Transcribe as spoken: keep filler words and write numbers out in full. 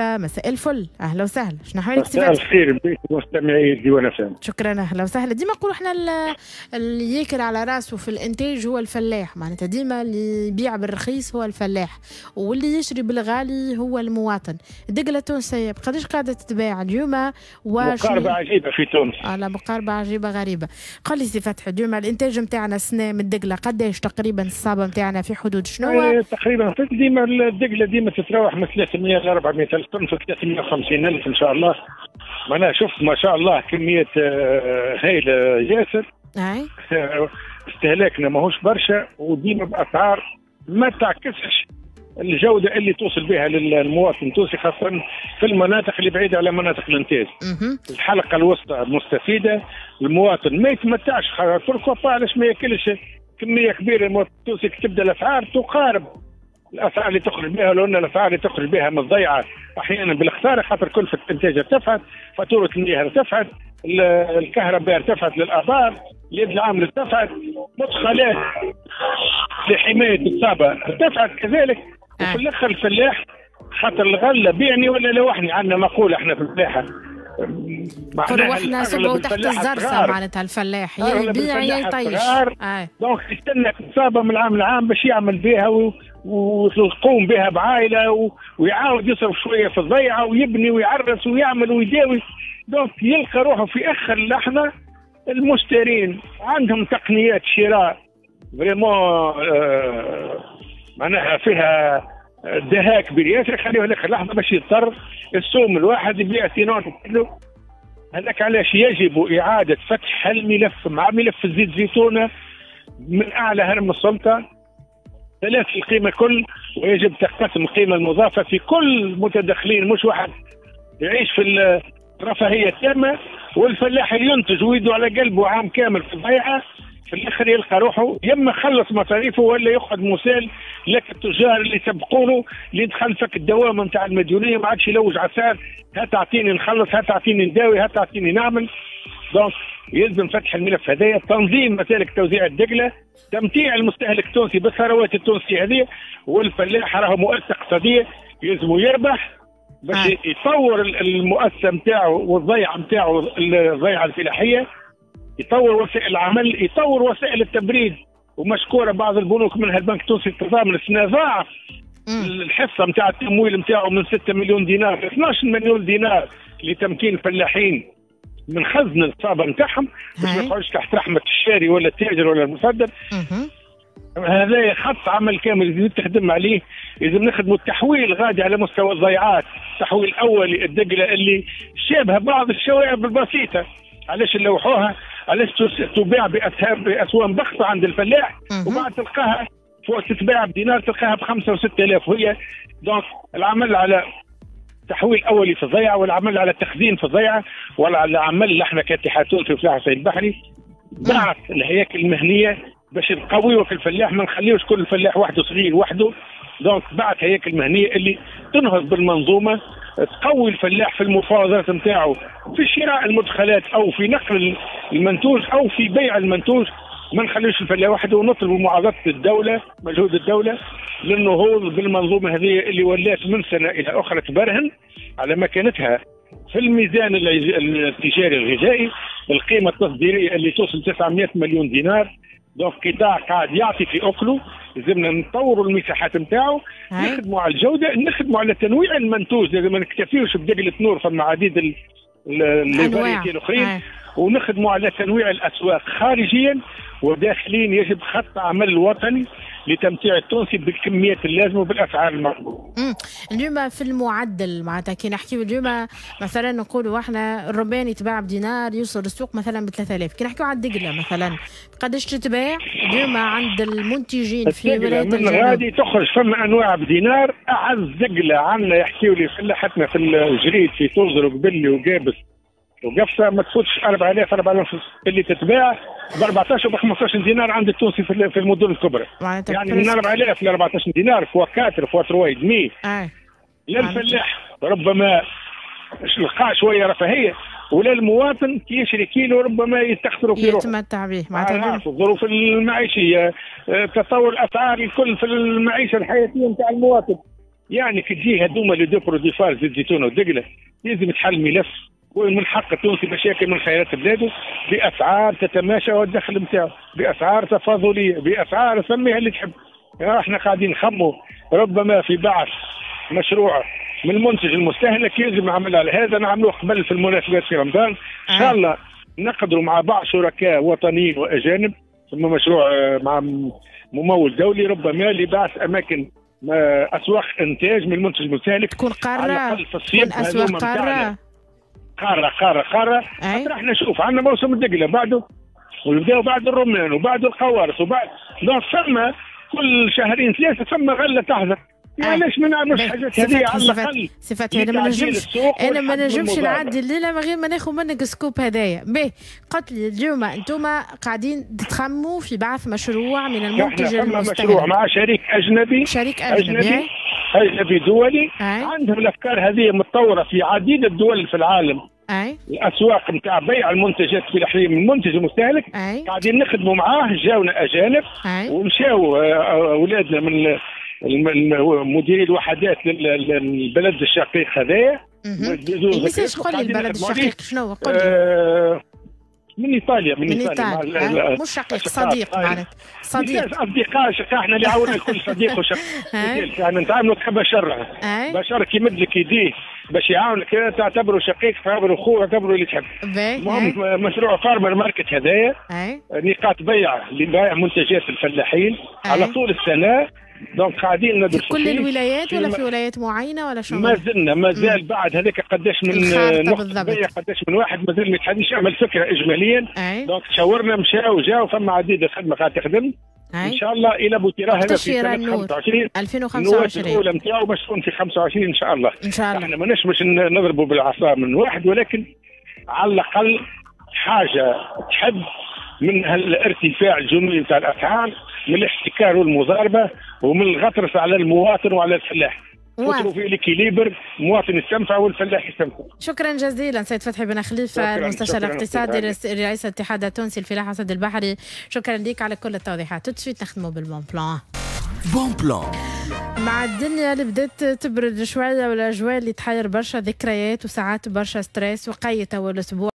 مساء الفل، اهلا وسهلا. شنو احوالك سي مساء الخير بك مستمعي ديوان فهم. شكرا، اهلا وسهلا. ديما نقولوا احنا اللي ياكل على راسه في الانتاج هو الفلاح، معناتها ديما اللي يبيع بالرخيص هو الفلاح واللي يشري بالغالي هو المواطن. الدقله التونسية بقداش قاعدة تتباع اليوم؟ مقاربة عجيبة في تونس. على مقاربة عجيبة غريبة. قال لي سي فتحي، اليوم الانتاج نتاعنا السنة من الدقله قداش تقريبا؟ الصابه نتاعنا في حدود شنو؟ إيه تقريبا ديما الدقله ديما تتراوح من ثلاثمية ل أربعمية ألف طن، في ثلاثمية وخمسين ألف إن شاء الله. معناها شفت ما شاء الله كمية هايلة ياسر. أي استهلاكنا ماهوش برشا، وديما بأسعار ما تعكسش الجودة اللي توصل بها للمواطن التونسي، خاصة في المناطق اللي بعيدة على مناطق الإنتاج. الحلقة الوسطى مستفيدة، المواطن ما يتمتعش، pourquoi pas علاش ما ياكلش كمية كبيرة المواطن التونسي؟ تبدا الأسعار تقارب الاسعار اللي تخرج بها، لو ان الاسعار اللي تخرج بها من الضيعة احيانا بالخساره، خاطر كلفه الانتاج ارتفعت، فاتورة المياه ارتفعت، الكهرباء ارتفعت للابار، اليد العاملة ارتفعت، مدخلات لحماية الصابه ارتفعت كذلك. وفي الاخر الفلاح خاطر الغلة بيعني ولا لوحني، عندنا مقولة احنا في الفلاحة، روحنا صبعوا تحت الزرسه، معناتها الفلاح يا يبيع يا يطيش. donc يستنى الصابه من العام لعام باش يعمل بها و... ويقوم بها بعائله و... ويعاود يصرف شوية في الضيعة ويبني ويعرس ويعمل ويداوي. donc يلقى روحه في اخر لحظة. المشترين عندهم تقنيات شراء vraiment آه معناها فيها دهاء كبير ياسر، يخليه لاخر لحظة باش يضطر السوم الواحد يبيع sinon كله. هذاك علاش يجب اعاده فتح الملف مع ملف الزيت زيتونه من اعلى هرم السلطة، ثلاث القيمة كل، ويجب تقسم القيمة المضافة في كل متدخلين، مش واحد يعيش في الرفاهية التامة والفلاح ينتج ويده على قلبه عام كامل في الضيعة، في الاخر يلقى روحه يما خلص مصاريفه ولا يقعد مسال لك التجار اللي سبقونه، اللي دخل فك الدوامة نتاع المديونيه، ما عادش يلوج على السعر، هات اعطيني نخلص، هات اعطيني نداوي، هات اعطيني نعمل. donc يلزم فتح الملف هذايا، تنظيم مسالك توزيع الدقله، تمتيع المستهلك التونسي بالثروات التونسية هذه، والفلاح راهو مؤسسة اقتصادية يلزم يربح باش آه. يطور المؤسسة نتاعو والضيعه نتاعو، الضيعة الفلاحية، يطور وسائل العمل، يطور وسائل التبريد. ومشكوره بعض البنوك منها البنك التونسي التضامن السنة ضاعف الحصة نتاع التمويل نتاعو من ستة مليون دينار ل اثناش مليون دينار لتمكين الفلاحين من خزن الصابه نتاعهم باش ما يقعدش تحت رحمه الشاري ولا التاجر ولا المصدر. هذا خط عمل كامل لازم تخدم عليه، لازم نخدموا التحويل غادي على مستوى الضيعات، التحويل الاولي الدقله اللي شابه بعض الشوائب البسيطة، علاش نلوحوها؟ علاش تباع باسوام بخسه عند الفلاح وبعد تلقاها فوق تتباع بدينار تلقاها بخمسة وستة آلاف وهي. donc العمل على تحويل اولي في الضيعة، والعمل على التخزين في الضيعة، والعمل احنا كاتحاد تونسي وفلاح الصيد البحري بعث الهياكل المهنية باش نقويو في الفلاح، ما نخليوش كل فلاح وحده صغير وحده. donc بعث هياكل مهنية اللي تنهض بالمنظومه، تقوي الفلاح في المفاوضات نتاعو في شراء المدخلات او في نقل المنتوج او في بيع المنتوج. ما نخليوش الفلاح وحده، ونطلبوا معاضده الدولة، مجهود الدولة للنهوض بالمنظومه هذه اللي ولات من سنة الى اخرى تبرهن على مكانتها في الميزان التجاري الغذائي، القيمة التصديريه اللي توصل تسعمية مليون دينار. donc قطاع قاعد يعطي في اكله، لازمنا نطوروا المساحات نتاعو، نخدموا على الجودة، نخدموا على تنويع المنتوج، لازم ما نكتفيوش بدقله نور، فما عديد les variétés الاخرين، ونخدموا على تنويع الاسواق خارجيا وداخليا. يجب خط عمل وطني لتمتيع التونسي بالكميات اللازمة وبالاسعار المطلوبة. اليوم في المعدل معناتها كي نحكيو اليوم مثلا نقولوا احنا الربان يتباع بدينار يوصل للسوق مثلا ب ثلاثة آلاف، كي نحكيو على الدقله مثلا قداش تتباع اليوم عند المنتجين في ولاية الجنوب؟ من غادي تخرج فما انواع بدينار. اعز دقله عندنا يحكيوا لي فلاحتنا في الجريد في توزر وقبلي وقابس وقفصه ما تفوتش أربعة آلاف أربعة آلاف اللي تتباع ب أربعطاش وب خمسطاش دينار عند التونسي في المدن الكبرى. يعني من أربعة آلاف ل أربعطاش دينار fois quatre fois trois et demi. آه. للفلاح ربما لقى شوية رفاهية، ولا المواطن كي يشري كيلو ربما يستخسروا في روحه يتمتع به. معناتها الظروف المعيشية، تطور الاسعار الكل في المعيشة الحياتية نتاع المواطن. يعني كي تجي هذوما les deux produits phares، زيت الزيتون والدقله، لازم تحل ملف، ومن حق التونسي باش ياكل من خيرات بلاده باسعار تتماشى والدخل نتاعو، باسعار تفاضليه، باسعار سميها اللي تحب. احنا قاعدين نخموا ربما في بعث مشروع من المنتج المستهلك، يلزم عمل على هذا، نعملوه قبل في المناسبات في رمضان ان شاء الله، نقدروا مع بعض شركاء وطنيين واجانب، ثم مشروع مع ممول دولي ربما لبعث اماكن اسواق انتاج من المنتج المستهلك، تكون قارة، تكون اسواق قارة قارة قارة قارة. خاطر احنا شوف عندنا موسم الدقله بعده، ونبداو بعد الرمان وبعد القوارص وبعد، donc ثم كل شهرين ثلاثة ثم غله تحضر. علاش ما نعملوش حاجات هذه على الاقل؟ صفات انا ما نجمش، انا ما نجمش نعدي الليلة من غير ما ناخذ منك scoop هدايا. باهي، قلت لي اليوم انتم قاعدين تخموا في بعث مشروع من المنتج المستهلك، مشروع مع شريك اجنبي، شريك اجنبي اجنبي, أجنبي دولي. أي. عندهم الافكار هذه متطورة في عديد الدول في العالم. أي. الاسواق نتاع بيع المنتجات الفلاحية من المنتج المستهلك. أي. قاعدين نخدموا معاه، جاونا اجانب ومشاو اولادنا من مديري الوحدات للبلد الشقيق هذايا. ميساج قول لي البلد الشقيق شنو؟ قول لي. آه من ايطاليا، من, من ايطاليا, إيطاليا. مش شقيق، صديق معناتها، صديق، اصدقاء شقيق، احنا اللي عاونا الكل صديق وشقيق، احنا نتعاملوا كبشر، بشر كي يمد لك يديه باش يعاونك تعتبره شقيق، تعتبره خوه، تعتبره اللي تحب. المهم مشروع farmer market هذايا، نقاط بيع لبيع منتجات الفلاحين على طول السنة. donc قاعدين ندرسوا في كل الولايات ولا في ولايات معينة ولا شو؟ ما زلنا، ما زال بعد هذاك قداش من نقطة بيع، قداش من واحد مازال ما يتحدش، يعمل فكرة اجماليا. donc تشاورنا، مشاو جاو، فما عديد الخدمة قاعدة تخدم. ان شاء الله الى بوتيرا هذا في سنة خمسة وعشرين ألفين وخمسة وعشرين الاولى نتاعو باش تكون في خمسة وعشرين ان شاء الله. ان شاء الله احنا ماناش باش نضربوا بالعصا من واحد، ولكن على الاقل حاجة تحب من هالارتفاع الجنوني نتاع الاسعار، من الاحتكار والمضاربه، ومن الغطرس على المواطن وعلى الفلاح. في l'équilibre، المواطن يستنفع والفلاح يستنفع. شكرا جزيلا سيد فتحي بن خليفة، المستشار الاقتصادي رئيس الاتحاد التونسي الفلاحة الصيد البحري، شكرا لك على كل التوضيحات. tout de suite نخدموا بال bon plan. bon plan مع الدنيا اللي بدات تبرد شوية والاجواء اللي تحير برشا ذكريات وساعات برشا stress، وقيت اول اسبوع.